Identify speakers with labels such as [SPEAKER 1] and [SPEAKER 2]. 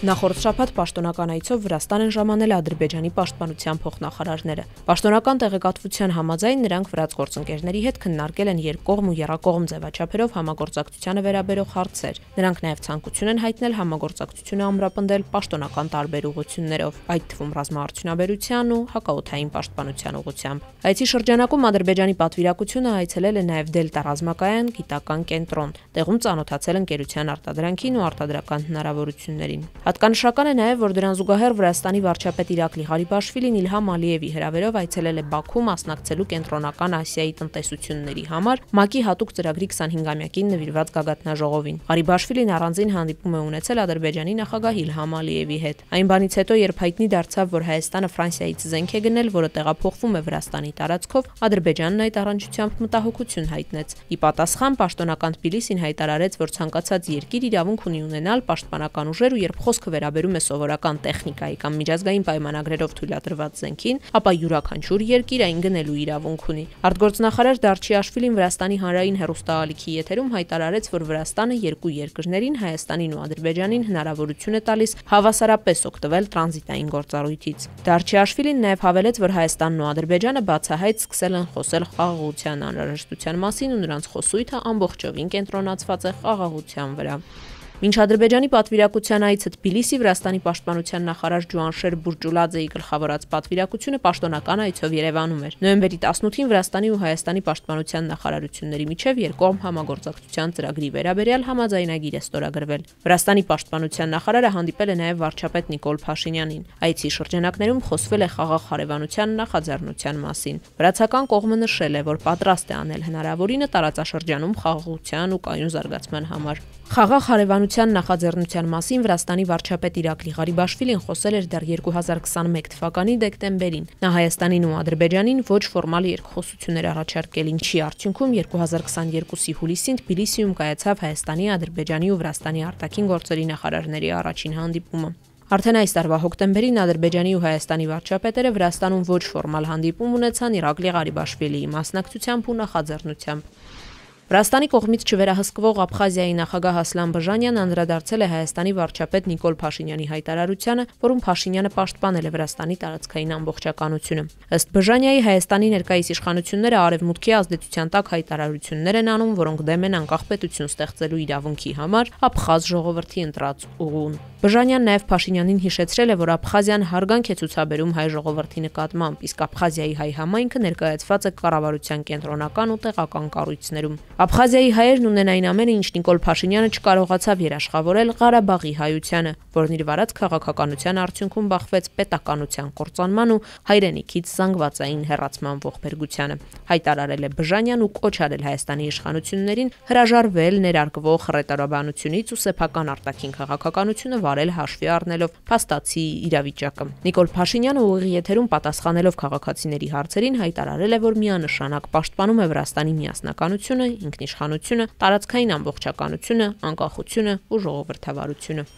[SPEAKER 1] Նախորդ շաբաթ պաշտոնական այցով Վրաստան են ժամանել Ադրբեջանի պաշտպանության փոխնախարարները։ Պաշտոնական տեղեկատվության համաձայն նրանք վրաց գործընկերների հետ քննարկել են երկկողմ ու եռակողմ ձևաչափերով համագործակցությանը վերաբերող հարցեր։ Նրանք նաև ցանկություն են հայտնել համագործակցությունը ամրապնդել պաշտոնական տարբեր ուղղություններով, այդ թվում ռազմաարդյունաբերության ու հակաօդային պաշտպանության ուղղությամբ։ Այցի շրջանակում Ադրբեջանի պատվիրակությունը այցելել է նաև Դելտա ռազմակայան գիտական կենտրոն, տեղում ծանոթացել ընկերության արտադրանքին ու արտադրական հնարավորություններին։ Հատկանշական է նաև, որ դրան զուգահեռ Վրաստանի վարչապետ Իրակլի Ղարիբաշվիլին Իլհամ Ալիևի հրավերով այցելել է Բաքու մասնակցելու Կենտրոնական Ասիայի տնտեսությունների համար ՄԱԿ-ի հատուկ ծրագրի 25-ամյակին նվիրված գագաթնաժողովին։ Ղարիբաշվիլին առանձին հանդիպում է ունեցել Ադրբեջանի նախագահ Իլհամ Ալիևի հետ։ Այն բանից հետո, երբ հայտնի դարձավ, որ Հայաստանը Ֆրանսիայից զենք է գնել, որը տեղափոխվում է Վրաստանի տարածքով, Ադրբեջանն այդ առնչությամբ մտահոգություն հայտնեց։ Ի պատասխան պաշտոնական Թբիլիսին հայտարարեց, որ ցանկացած երկիր իրավունք ունի ունենալ պաշտպանական ուժեր ու երբ խոսքը վերաբերում է սովորական տեխնիկայի կամ միջազգային պայմանագրերով թույլատրված զենքին, ապա յուրաքանչյուր երկիր այն գնելու իրավունք ունի։ Արտգործնախարար Դարչիաշվիլին Վրաստանի հանրային հեռուստաալիքի եթերում հայտարարեց, որ Վրաստանը երկու երկրներին, Հայաստանին ու Ադրբեջանին հնարավորություն է տալիս հավասարապես օգտվել տրանզիտային գործառույթից։ Դարչիաշվիլին նաև հավելեց, որ Հայաստանն ու Ադրբեջանը բացահայտ սկսել են խոսել խաղաղության անհրաժեշտության մասին ու նրանց խոսույթը ամբողջովին կենտրոնացված է խաղաղության վրա։ Մինչ Ադրբեջանի պատվիրակության այցը Թբիլիսի Վրաստանի պաշտպանության նախարար Ջուանշեր Բուրջուլաձեի գլխավորած պատվիրակությունը պաշտոնական այցով Երևանում էր։ Նոյեմբերի 18-ին Վրաստանի ու Հայաստանի պաշտպանության նախարարությունների միջև երկկողմ համագործակցության ծրագրի վերաբերյալ համաձայնագիր է ստորագրվել։ Վրաստանի պաշտպանության նախարարը հանդիպել է նաև վարչապետ Նիկոլ Փաշինյանին։ Այցի շրջանակներում խոսվել է խաղաղ հարևանության նախաձեռնության մասին։ Վրացական կողմը նշել է, որ պատրաստ է անել հնարավորինը տարածաշրջանում խաղաղության ու կայուն զարգացման համար։ Խաղաղ հարևանության նախաձեռնության մասին Վրաստանի վարչապետ Իրակլի Ղարիբաշվիլին խոսել էր դեռ 2021 թվականի դեկտեմբերին։ Նա Հայաստանին ու Ադրբեջանին ոչ ֆորմալ երկխոսություններ առաջարկել, ինչի արդյունքում 2022-ի հուլիսին Թբիլիսիում կայացավ Հայաստանի, Ադրբեջանի ու Վրաստանի արտաքին գործերի նախարարների առաջին հանդիպումը։ Արդեն այս տարվա հոկտեմբերին Ադրբեջանի ու Հայաստանի վարչապետերը Վրաստանում ոչ ֆորմալ հանդիպում ունեցան Իրակլի Ղարիբաշվիլիի մասնակցությամբ ու նախաձեռնությամբ։ Վրաստանի կողմից չվերահսկվող Աբխազիայի նախագահ Ասլան Բժանյանն անդրադարձել է Հայաստանի վարչապետ Նիկոլ Փաշինյանի հայտարարությանը, որում Փաշինյանը պաշտպանել է Վրաստանի տարածքային ամբողջականությունը։ Ըստ Բժանյայի Հայաստանի ներկայիս իշխանությունները արևմուտքի ազդեցության տակ հայտարարություններ են անում, որոնք դեմ են անկախ պետություն ստեղծելու իրավունքի համար Աբխազ ժողովրդի ընտրած ուղուն։ Բժանյանն նաև Փաշինյանին հիշեցրել է, որ Աբխազիան հարգանք է ցուցաբերում հայ ժողովրդի նկատմամբ, իսկ Աբխազիայի հայ համայնքը ներկայացված է կառավարության կենտրոնական ու տեղական կառույցներում։ Աբխազիայի հայերն ունեն այն ամենը, ինչ Նիկոլ Փաշինյանը չկարողացավ երաշխավորել Ղարաբաղի հայությանը, որն իր վարած քաղաքականության արդյունքում բախվեց պետականության կործանման ու հայրենիքից զանգվածային հեռացման ողբերգությանը։ Հայտարարել է Բժանյան ու կոչ արել Հայաստանի իշխանություններին հրաժարվել ներարկվող հռետորաբանությունից ու սեփական արտաքին քաղաքականությունը վարել հաշվի առնելով փաստացի իրավիճակը։ Նիկոլ Փաշինյանը ուղիղ եթերում պատասխանելով քաղաքացիների հարցերին հայտարարել է, որ միանշանակ պաշտպանում է Վրաստանի միասնականությունը, ինքնիշխանությունը, տարածքային ամբողջականությունը, անկախությունը ու ժողովրդավարությունը։